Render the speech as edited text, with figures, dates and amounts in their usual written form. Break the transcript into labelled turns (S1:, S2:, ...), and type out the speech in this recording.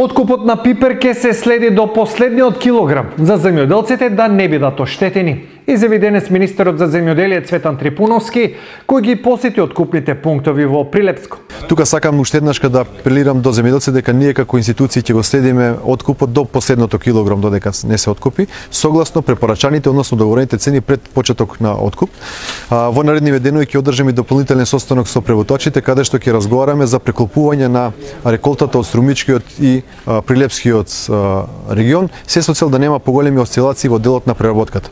S1: Откупот на пипер ке се следи до последниот килограм за земјоделците да не бидат оштетени. Изјави денес министерот за земјоделие Цветан Трипуновски, кој ги посети откупните пунктови во Прилепско.
S2: Тука сакам уште еднаш да апелирам до земјоделците дека ние како институции ќе го следиме откупот до последното килограм додека не се откупи, согласно препорачаните, односно договорените цени пред почеток на откуп. Во наредниве денови ќе одржиме дополнителен состанок со преводачите каде што ќе разговараме за преколпување на реколтата од Струмичкиот и Прилепскиот регион, се со цел да нема поголеми осцилации во делот на преработката.